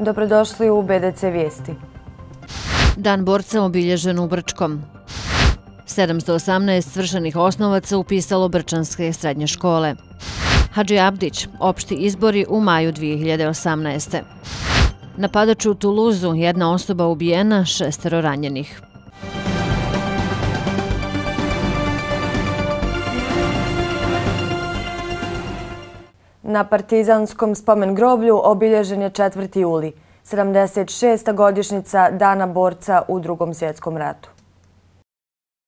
Dobrodošli u BDC Vijesti. Dan borca obilježen u Brčkom. 718 svršenih osnovaca upisalo brčanske srednje škole. Hadži Abdić, opšti izbori u maju 2018. Napadač u Tuluzu, jedna osoba ubijena, 6 ranjenih. Na Partizanskom spomen groblju obilježen je 4. juli, 76. godišnjica Dana borca u Drugom svjetskom ratu.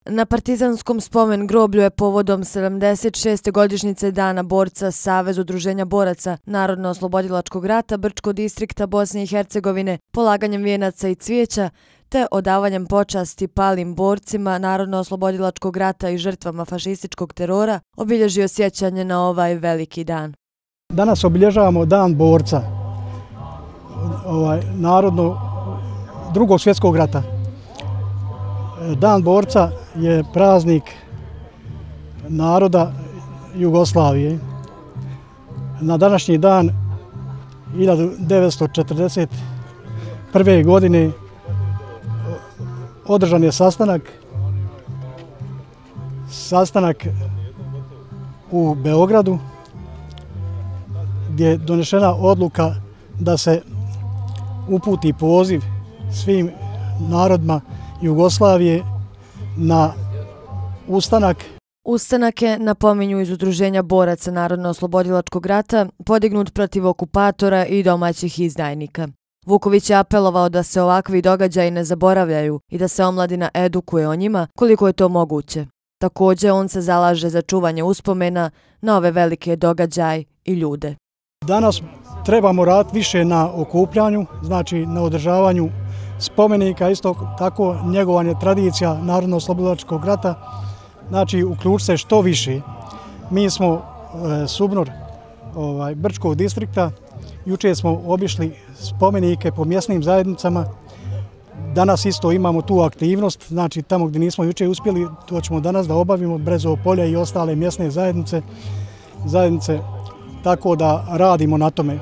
Na Partizanskom spomen groblju je povodom 76. godišnjice Dana borca Savez udruženja boraca Narodno-oslobodilačkog rata Brčkog distrikta Bosne i Hercegovine polaganjem vijenaca i cvijeća te odavanjem počasti palim borcima Narodno-oslobodilačkog rata i žrtvama fašističkog terora obilježio sjećanje na ovaj veliki dan. Danas obilježavamo Dan borca Drugog svjetskog rata. Dan borca je praznik naroda Jugoslavije. Na današnji dan 1941. godine održan je sastanak u Beogradu, gdje je donešena odluka da se uputi poziv svim narodima Jugoslavije na ustanak. Ustanak je, napominju iz Udruženja boraca Narodno-oslobodilačkog rata, podignut protiv okupatora i domaćih izdajnika. Vuković je apelovao da se ovakvi događaji ne zaboravljaju i da se omladina edukuje o njima koliko je to moguće. Također, on se zalaže za čuvanje uspomena na ove velike događaje i ljude. Danas trebamo raditi više na okupljanju, znači na održavanju spomenika, isto tako njegovanje tradicija Narodno-oslobodilačkog rata, znači uključiti se što više. Mi smo SUBNOR Brčkog distrikta, jučer smo obišli spomenike po mjesnim zajednicama, danas isto imamo tu aktivnost, znači tamo gdje nismo jučer uspjeli, to ćemo danas da obavimo, Brezovo polje i ostale mjesne zajednice, tako da radimo na tome.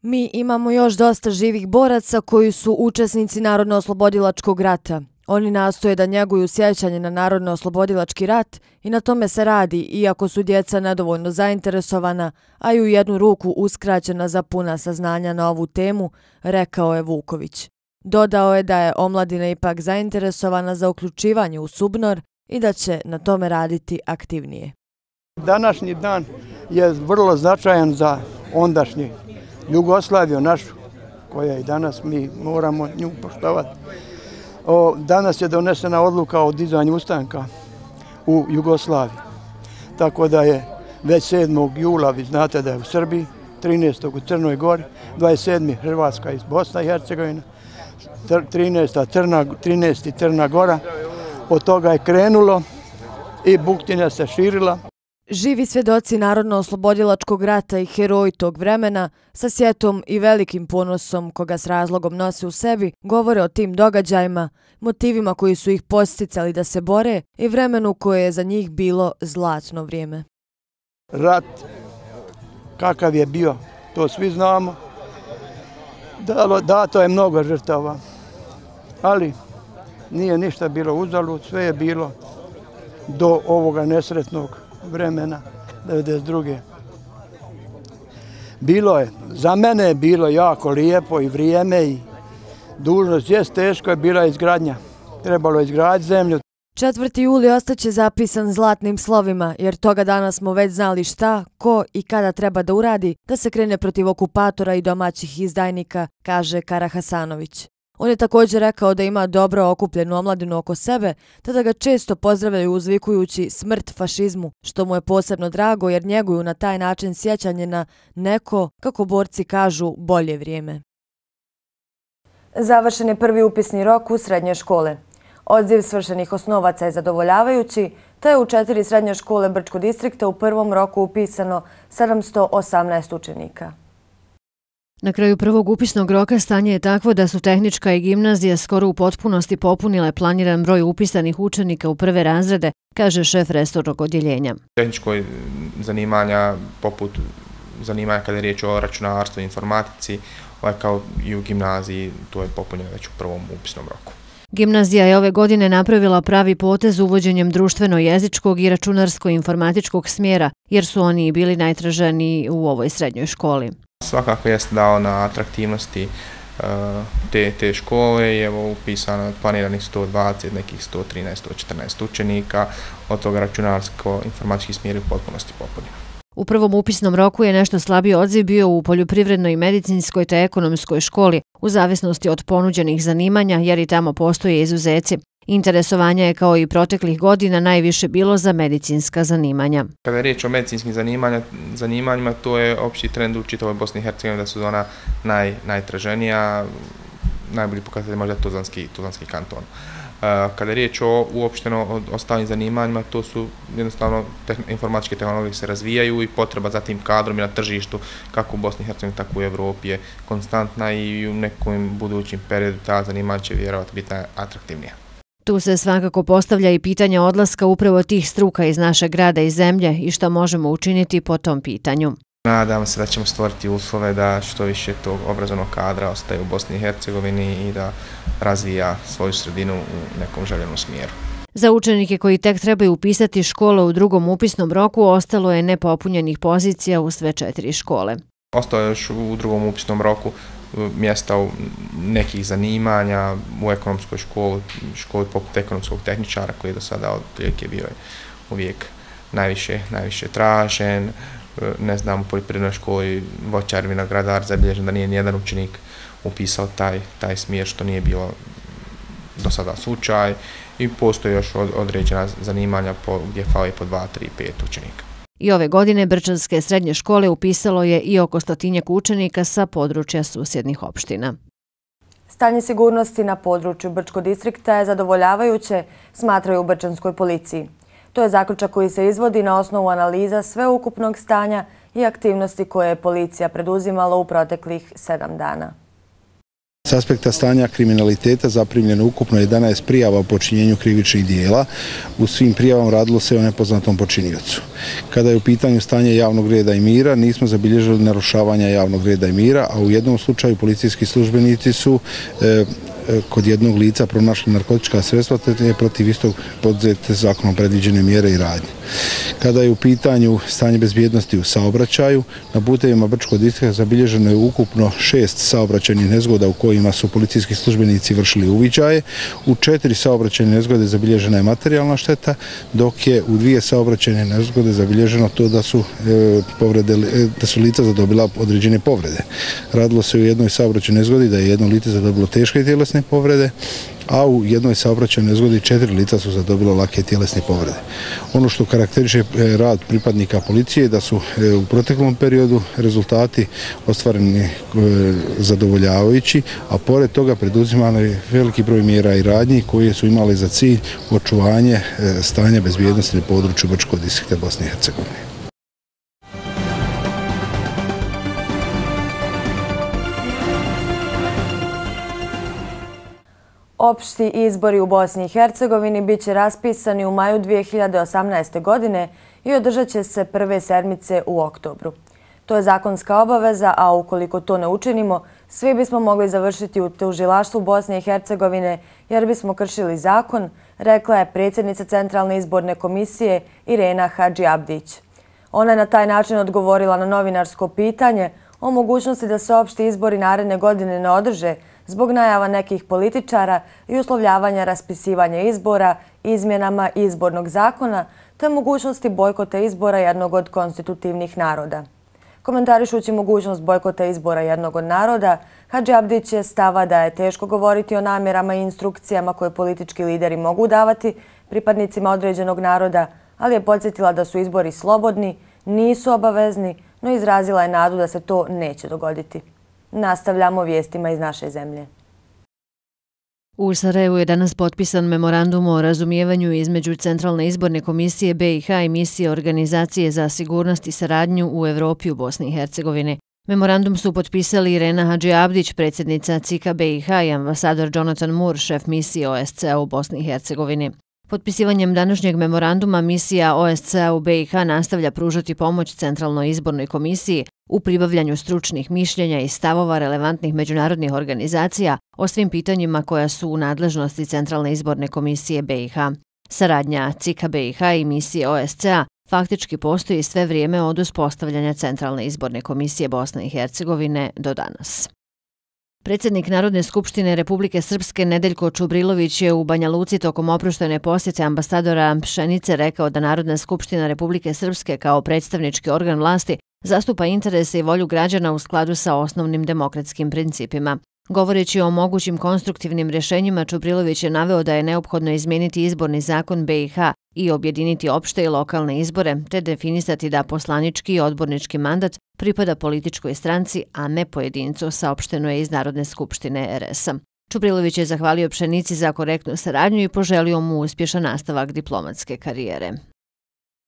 Mi imamo još dosta živih boraca koji su učesnici Narodno-oslobodilačkog rata. Oni nastoje da njeguju sjećanje na Narodno-oslobodilački rat i na tome se radi, iako su djeca nedovoljno zainteresovana, a i u jednu ruku uskraćena za puna saznanja na ovu temu, rekao je Vuković. Dodao je da je omladina ipak zainteresovana za uključivanje u SUBNOR i da će na tome raditi aktivnije. Današnji dan je vrlo značajan za ondašnju Jugoslaviju našu, koja i danas mi moramo nju poštovati. Danas je donesena odluka o dizanju ustanka u Jugoslaviji. Tako da je već 7. jula, vi znate da je u Srbiji, 13. u Crnoj Gori, 27. Hrvatska iz Bosna i Hercegovina, 13. Crna Gora. Od toga je krenulo i buktinja se širila. Živi svjedoci Narodno-oslobodilačkog rata i heroji tog vremena, sa sjetom i velikim ponosom koga s razlogom nose u sebi, govore o tim događajima, motivima koji su ih posticali da se bore i vremenu koje je za njih bilo zlatno vrijeme. Rat, kakav je bio, to svi znamo. Dato je mnogo žrtava, ali nije ništa bilo uzalud, sve je bilo do ovoga nesretnog vremena, 1992. Bilo je, za mene je bilo jako lijepo i vrijeme i dužnost jest teško je bila izgradnja. Trebalo je izgraditi zemlju. 4. juli ostaće zapisan zlatnim slovima, jer toga dana smo već znali šta, ko i kada treba da uradi da se krene protiv okupatora i domaćih izdajnika, kaže Kara Hasanović. On je također rekao da ima dobro okupljenu omladinu oko sebe, te da ga često pozdravljaju uzvikujući smrt fašizmu, što mu je posebno drago jer njeguju na taj način sjećanje na neko, kako borci kažu, bolje vrijeme. Završen je prvi upisni rok u srednje škole. Odziv svršenih osnovaca je zadovoljavajući, te je u 4 srednje škole Brčkog distrikta u prvom roku upisano 718 učenika. Na kraju prvog upisnog roka stanje je takvo da su tehnička i gimnazija skoro u potpunosti popunile planiran broj upisanih učenika u prve razrede, kaže šef resornog odjeljenja. Tehničko zanimanja poput zanimanja kada je riječ o računarstvu i informatici, kao i u gimnaziji, to je popunjeno već u prvom upisnom roku. Gimnazija je ove godine napravila pravi potez uvođenjem društveno-jezičkog i računarsko-informatičkog smjera, jer su oni bili najtraženiji u ovoj srednjoj školi. Svakako jest dao na atraktivnosti te škole i evo upisano planiranih 120, nekih 113, 114 učenika, od toga računarsko-informatički smjer u potpunosti popunjen. U prvom upisnom roku je nešto slabiji odziv bio u poljoprivrednoj, medicinskoj te ekonomskoj školi, u zavisnosti od ponuđenih zanimanja, jer i tamo postoje izuzeci. Interesovanje je kao i proteklih godina najviše bilo za medicinska zanimanja. Kada je riječ o medicinskim zanimanjima, to je opći trend u čitavoj Bosni i Hercegovini da su ona najtraženija, najbolji pokazatelj možda Tuzlanski kanton. Kada je riječ uopšteno o ostalim zanimanjima, to su jednostavno informatičke tehnologije se razvijaju i potreba za tim kadrom i na tržištu, kako u Bosni i Hercegovini, tako u Evropi je konstantna i u nekom budućim periodu ta zanimanja će vjerovatno biti atraktivnija. Tu se svakako postavlja i pitanje odlaska upravo tih struka iz našeg grada i zemlje i šta možemo učiniti po tom pitanju. Nadam se da ćemo stvoriti uslove da što više tog obrazovnog kadra ostaje u Bosni i Hercegovini i da razvija svoju sredinu u nekom željenom smjeru. Za učenike koji tek trebaju upisati škole u drugom upisnom roku ostalo je nepopunjenih pozicija u sve 4 škole. Ostalo je još u drugom upisnom roku mjesta u nekih zanimanja u ekonomskoj školi poput ekonomskog tehničara koji je do sada otprilike bio uvijek najviše tražen. Ne znam, u poljoprivrednoj školi voćar, vinogradar, zabilježen da nije nijedan učenik upisao taj smjer, što nije bilo do sada slučaj, i postoje još određena zanimanja gdje fali po 2, 3, 5 učenika. I ove godine Brčanske srednje škole upisalo je i oko 100 učenika sa područja susjednih opština. Stanje sigurnosti na području Brčkog distrikta je zadovoljavajuće, smatraju u Brčanskoj policiji. To je zaključak koji se izvodi na osnovu analiza sveukupnog stanja i aktivnosti koje je policija preduzimala u proteklih 7 dana. S aspekta stanja kriminaliteta zaprimljeno ukupno 11 prijava o počinjenju krivičnih dijela. U svim prijavama radilo se o nepoznatom počiniocu. Kada je u pitanju stanje javnog reda i mira, nismo zabilježili narušavanja javnog reda i mira, a u jednom slučaju policijski službenici su kod jednog lica pronašli narkotička sredstva te je protiv istog poduzete zakonom predviđene mjere i radnje. Kada je u pitanju stanje bezbjednosti u saobraćaju, na putevima Brčkog distrikta zabilježeno je ukupno 6 saobraćajnih nezgoda u kojima su policijski službenici vršili uviđaje. U 4 saobraćajne nezgode zabilježena je materijalna šteta, dok je u 2 saobraćajne nezgode zabilježeno to da su lica zadobila određene povrede. Radilo se u jednoj saobraćajnoj nezgodi da je jedno lice zadobilo teške tjelesne povrede, a u jednoj saobraćajnoj nezgodi 4 lica su zadobila lake tjelesne povrede. Ono što karakteriše rad pripadnika policije je da su u proteklom periodu rezultati ostvareni zadovoljavajući, a pored toga preduzimano je veliki broj mjera i radnji koje su imale za cilj očuvanje stanja bezbjednosti na području Brčkog distrikta Bosne i Hercegovine. Opšti izbori u Bosni i Hercegovini bit će raspisani u maju 2018. godine i održat će se prve sedmice u oktobru. To je zakonska obaveza, a ukoliko to ne učinimo, svi bismo mogli završiti u tužilaštvu Bosne i Hercegovine jer bismo kršili zakon, rekla je predsjednica Centralne izborne komisije Irena Hadži Abdić. Ona je na taj način odgovorila na novinarsko pitanje o mogućnosti da se opšti izbori naredne godine ne održe zbog najava nekih političara i uslovljavanja raspisivanja izbora izmjenama izbornog zakona te mogućnosti bojkota izbora jednog od konstitutivnih naroda. Komentarišući mogućnost bojkota izbora jednog od naroda, Hadži Abdić je stava da je teško govoriti o namjerama i instrukcijama koje politički lideri mogu davati pripadnicima određenog naroda, ali je podsjetila da su izbori slobodni, nisu obavezni, no izrazila je nadu da se to neće dogoditi. Nastavljamo vijestima iz naše zemlje. U Sarajevu je danas potpisan memorandum o razumijevanju između Centralne izborne komisije BiH i misije Organizacije za sigurnost i saradnju u Evropi u Bosni i Hercegovini. Memorandum su potpisali Irena Hadži Abdić, predsjednica CIK BiH, i ambasador Jonathan Moore, šef misije OSCE u Bosni i Hercegovini. Potpisivanjem današnjeg memoranduma misija OSCE u BiH nastavlja pružati pomoć Centralnoj izbornoj komisiji u pribavljanju stručnih mišljenja i stavova relevantnih međunarodnih organizacija o svim pitanjima koja su u nadležnosti Centralne izborne komisije BiH. Saradnja CIK-a BiH i misije OSCE faktički postoji sve vrijeme od uspostavljanja Centralne izborne komisije Bosne i Hercegovine do danas. Predsjednik Narodne skupštine Republike Srpske Nedeljko Čubrilović je u Banja Luci tokom oproštajne posjete ambasadora Pšenice rekao da Narodna skupština Republike Srpske kao predstavnički organ vlasti zastupa interese i volju građana u skladu sa osnovnim demokratskim principima. Govoreći o mogućim konstruktivnim rješenjima, Čubrilović je naveo da je neophodno izmijeniti izborni zakon BiH i objediniti opšte i lokalne izbore, te definisati da poslanički i odbornički mandat pripada političkoj stranci, a ne pojedincu, saopšteno je iz Narodne skupštine RS-a. Čubrilović je zahvalio Pšenici za korektnu saradnju i poželio mu uspješan nastavak diplomatske karijere.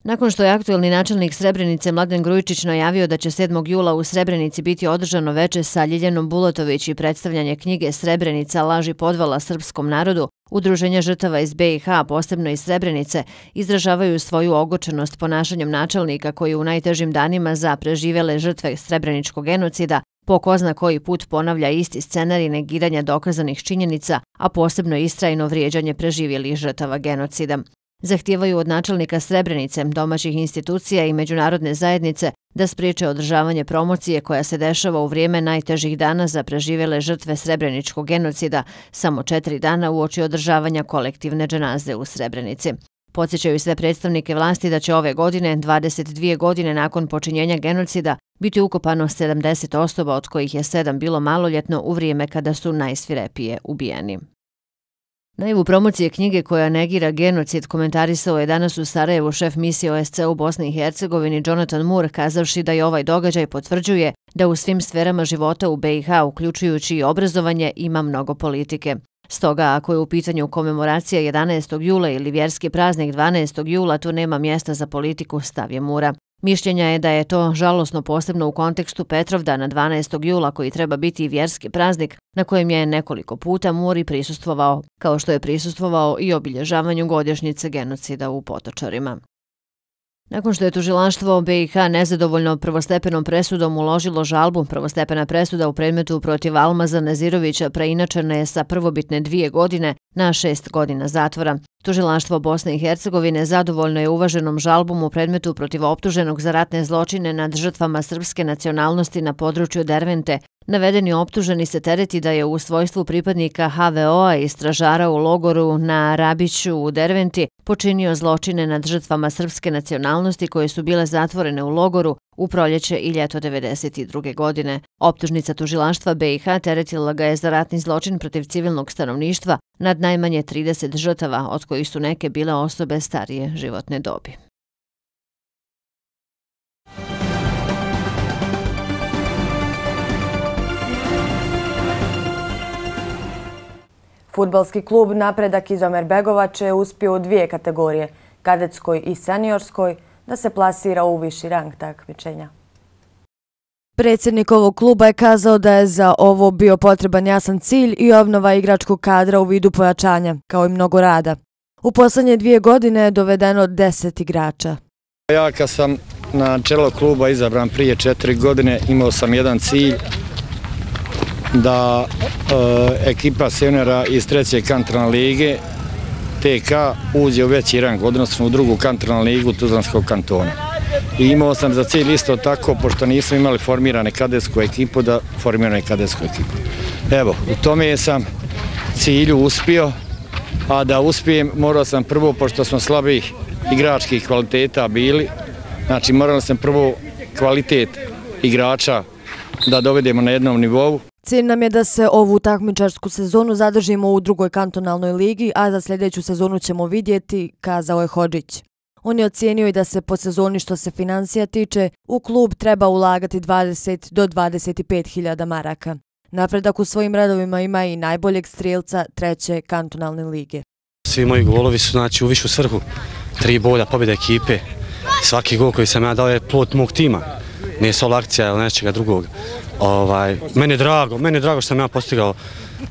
Nakon što je aktuelni načelnik Srebrenice Mladen Grujičić najavio da će 7. jula u Srebrenici biti održano veče sa Ljiljanom Bulatović i predstavljanje knjige Srebrenica, laž i podvala srpskom narodu, Udruženja žrtava iz BiH, posebno iz Srebrenice, izražavaju svoju ogočenost ponašanjem načelnika koji u najtežim danima za preživjele žrtve srebreničkog genocida po ko zna koji put ponavlja isti scenarij negiranja dokazanih činjenica, a posebno istrajno vrijeđanje preživjelih žrtava genocida. Zahtijevaju od načelnika Srebrenice, domaćih institucija i međunarodne zajednice da spriječe održavanje promocije koja se dešava u vrijeme najtežih dana za preživjele žrtve srebreničkog genocida, samo 4 dana uoči održavanja kolektivne dženaze u Srebrenici. Podsjećaju sve predstavnike vlasti da će ove godine, 22 godine nakon počinjenja genocida, biti ukopano 70 osoba, od kojih je 7 bilo maloljetno u vrijeme kada su najsvirepije ubijeni. Najavu promocije knjige koja negira genocid komentarisao je danas u Sarajevu šef misije OSCE u Bosni i Hercegovini Jonathan Moore, kazavši da je ovaj događaj potvrđuje da u svim sferama života u BiH, uključujući i obrazovanje, ima mnogo politike. Stoga, ako je u pitanju komemoracija 11. jula ili vjerski praznik 12. jula, tu nema mjesta za politiku, stav je Moora. Mišljenja je da je to žalosno posebno u kontekstu Petrovdana 12. jula koji treba biti vjerski praznik na kojem je nekoliko puta Moore prisustvovao, kao što je prisustvovao i obilježavanju godišnjice genocida u Potočarima. Nakon što je tužilaštvo BiH nezadovoljno prvostepenom presudom uložilo žalbu, prvostepena presuda u predmetu protiv Almaza Nezirovića preinačena je sa prvobitne 2 godine na 6 godina zatvora. Tužilaštvo Bosne i Hercegovine zadovoljno je uvaženom žalbom u predmetu protiv optuženog za ratne zločine nad žrtvama srpske nacionalnosti na području Dervente. Navedeni optuženi se tereti da je u svojstvu pripadnika HVO-a i stražara u logoru na Rabiću u Derventi počinio zločine nad žrtvama srpske nacionalnosti koje su bile zatvorene u logoru u proljeće i ljeto 1992. godine. Optužnica tužilaštva BiH teretila ga je za ratni zločin protiv civilnog stanovništva nad najmanje 30 žrtava, od kojih su neke bile osobe starije životne dobi. Fudbalski klub Napredak Izomer Begovač je uspio u 2 kategorije, kadetskoj i seniorskoj, da se plasira u viši rang takmičenja. Predsjednik ovog kluba je kazao da je za ovo bio potreban jasan cilj i obnova igračkog kadra u vidu pojačanja, kao i mnogo rada. U posljednje 2 godine je dovedeno 10 igrača. Ja kad sam na čelo kluba izabran prije 4 godine imao sam jedan cilj da ekipa seniora iz 3. kantonalne lige TK uđe u veći rang, odnosno u 2. kantonalnu ligu Tuzlanskog kantona. I imao sam za cilj isto tako, pošto nismo imali formirane kadetsku ekipu, da formirane kadetsku ekipu. Evo, u tome sam cilju uspio, a da uspijem morao sam prvo, pošto smo slabih igračkih kvaliteta bili, znači morao sam prvo kvalitet igrača da dovedemo na jednom nivou. Cilj nam je da se ovu takmičarsku sezonu zadržimo u 2. kantonalnoj ligi, a za sljedeću sezonu ćemo vidjeti, kazao je Hodžić. On je ocijenio i da se po sezoni što se financija tiče, u klub treba ulagati 20 do 25.000 maraka. Napredak u svojim radovima ima i najboljeg strijelca 3. kantonalne lige. Svi moji golovi su znači u višu svrhu, 3 boda, pobjeda ekipe. Svaki gol koji sam ja dao je plod mog tima, nije solo akcija ili nečega drugog. Meni je drago što sam ja postigao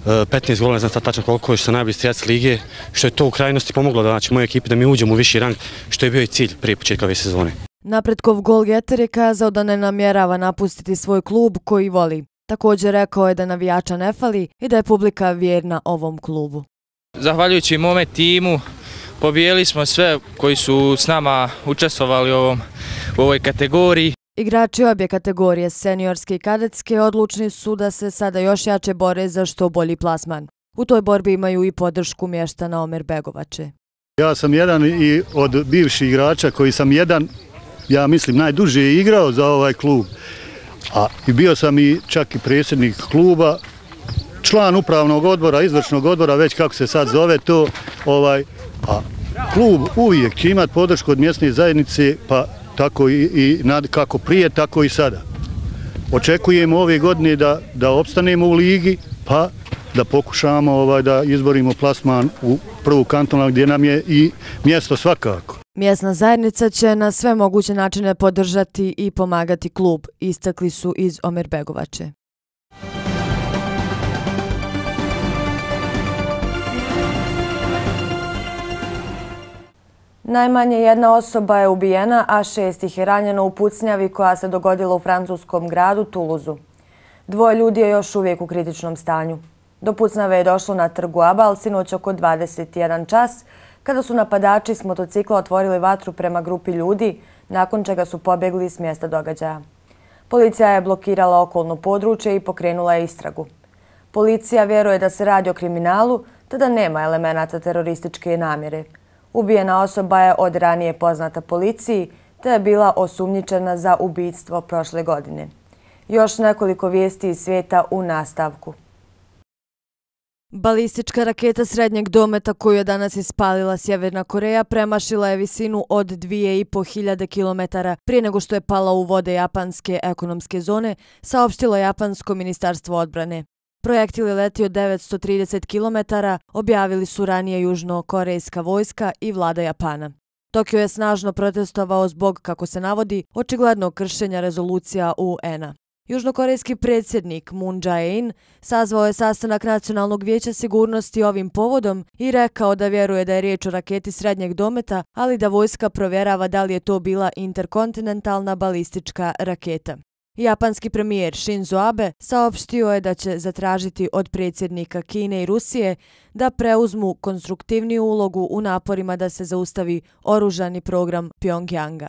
15 golova, ne znam sad tačno koliko, što sam najbolji strijac lige, što je to u krajnosti pomoglo da mojoj ekipi da mi uđemo u viši rang, što je bio i cilj prije početka ove sezone. Napredkov golgeter je kazao da ne namjerava napustiti svoj klub koji voli. Također rekao je da navijača ne fali i da je publika vjerna ovom klubu. Zahvaljujući mome timu pobijeli smo sve koji su s nama učestvovali u ovoj kategoriji. Igrači obje kategorije, seniorske i kadetske, odlučni su da se sada još jače bore za što bolji plasman. U toj borbi imaju i podršku mještana Omerbegovače. Ja sam jedan i od bivših igrača koji sam ja mislim, najduže igrao za ovaj klub. I bio sam i čak i predsjednik kluba, član upravnog odbora, izvršnog odbora, već kako se sad zove to. A klub uvijek će imati podršku od mjesne zajednice, pa tako i kako prije, tako i sada. Očekujemo ove godine da opstanemo u ligi, pa da pokušamo da izborimo plasman u prvu kantonu gdje nam je i mjesto svakako. Mjesna zajednica će na sve moguće načine podržati i pomagati klub, istakli su iz Omerbegovače. Najmanje jedna osoba je ubijena, a 6 ih je ranjeno u pucnjavi koja se dogodila u francuskom gradu Tuluzu. 2 ljudi je još uvijek u kritičnom stanju. Do pucnjave je došlo na trgu Abal sinoć oko 21 čas, kada su napadači s motocikla otvorili vatru prema grupi ljudi, nakon čega su pobjegli s mjesta događaja. Policija je blokirala okolno područje i pokrenula je istragu. Policija vjeruje da se radi o kriminalu, te da nema elemenata terorističke namjere. Ubijena osoba je od ranije poznata policiji, te je bila osumnjičena za ubijstvo prošle godine. Još nekoliko vijesti iz svijeta u nastavku. Balistička raketa srednjeg dometa koju je danas ispalila Sjeverna Koreja premašila je visinu od 2500 km prije nego što je pala u vode japanske ekonomske zone, saopštilo Japansko ministarstvo odbrane. Projektil je letio 930 km, objavili su ranije južnokorejska vojska i vlada Japana. Tokio je snažno protestovao zbog, kako se navodi, očiglednog kršenja rezolucija UN-a. Južnokorejski predsjednik Moon Jae-in sazvao je sastanak Nacionalnog vijeća sigurnosti ovim povodom i rekao da vjeruje da je riječ o raketi srednjeg dometa, ali da vojska provjerava da li je to bila interkontinentalna balistička raketa. Japanski premijer Shinzo Abe saopštio je da će zatražiti od predsjednika Kine i Rusije da preuzmu konstruktivniju ulogu u naporima da se zaustavi oružani program Pjongjanga.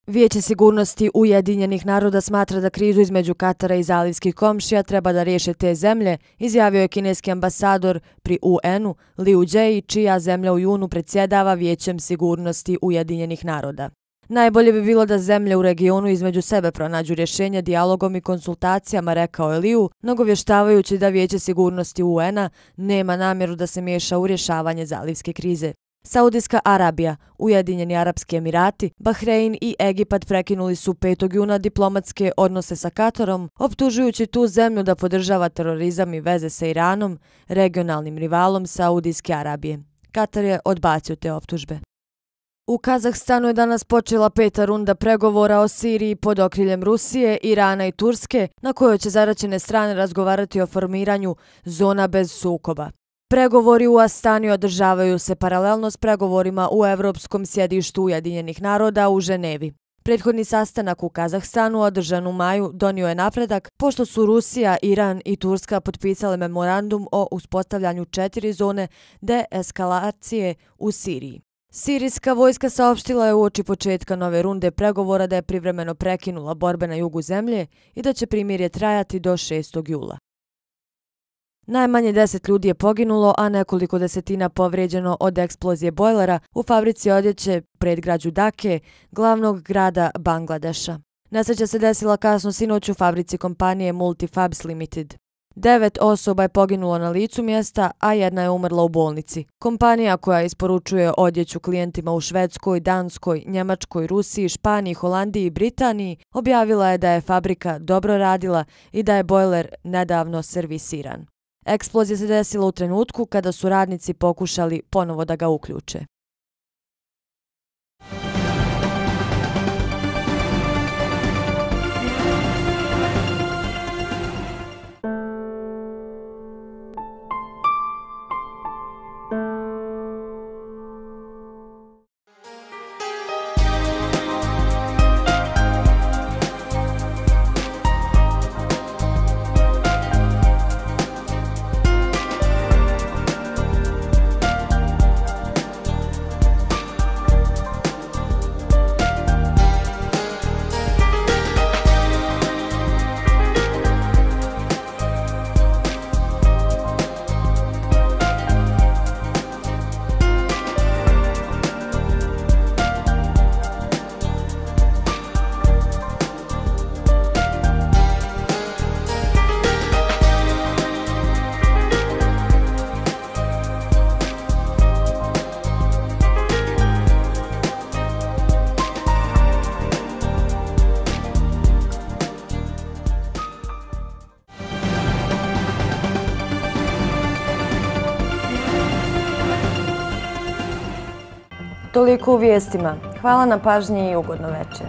Vijeće sigurnosti Ujedinjenih naroda smatra da krizu između Katara i zalivskih komšija treba da riješe te zemlje, izjavio je kineski ambasador pri UN-u Liu Jie, čija zemlja u junu predsjedava Vijećem sigurnosti Ujedinjenih naroda. Najbolje bi bilo da zemlje u regionu između sebe pronađu rješenje dijalogom i konsultacijama, rekao je Liu, nagovještavajući da Vijeće sigurnosti UN-a nema namjeru da se miješa u rješavanje zalivske krize. Saudijska Arabija, Ujedinjeni Arapski Emirati, Bahrein i Egipat prekinuli su 5. juna diplomatske odnose sa Katarom, optužujući tu zemlju da podržava terorizam i veze sa Iranom, regionalnim rivalom Saudijske Arabije. Katar je odbacio te optužbe. U Kazahstanu je danas počela 5. runda pregovora o Siriji pod okriljem Rusije, Irana i Turske, na kojoj će zaraćene strane razgovarati o formiranju zona bez sukoba. Pregovori u Astani održavaju se paralelno s pregovorima u Evropskom sjedištu Ujedinjenih naroda u Ženevi. Prethodni sastanak u Kazahstanu održan u maju donio je napredak pošto su Rusija, Iran i Turska potpisale memorandum o uspostavljanju 4 zone deeskalacije u Siriji. Sirijska vojska saopštila je uoči početka nove runde pregovora da je privremeno prekinula borbe na jugu zemlje i da će primirje trajati do 6. jula. Najmanje 10 ljudi je poginulo, a nekoliko desetina povrijeđeno od eksplozije bojlera u fabrici odjeće predgrađu Dake, glavnog grada Bangladeša. Nesreća se desila kasno sinoć u fabrici kompanije Multifabs Limited. 9 osoba je poginulo na licu mjesta, a 1 je umrla u bolnici. Kompanija koja isporučuje odjeću klijentima u Švedskoj, Danskoj, Njemačkoj, Rusiji, Španiji, Holandiji i Britaniji objavila je da je fabrika dobro radila i da je bojler nedavno servisiran. Eksplozija se desila u trenutku kada su radnici pokušali ponovo da ga uključe. Toliko u vijestima. Hvala na pažnji i ugodno večer.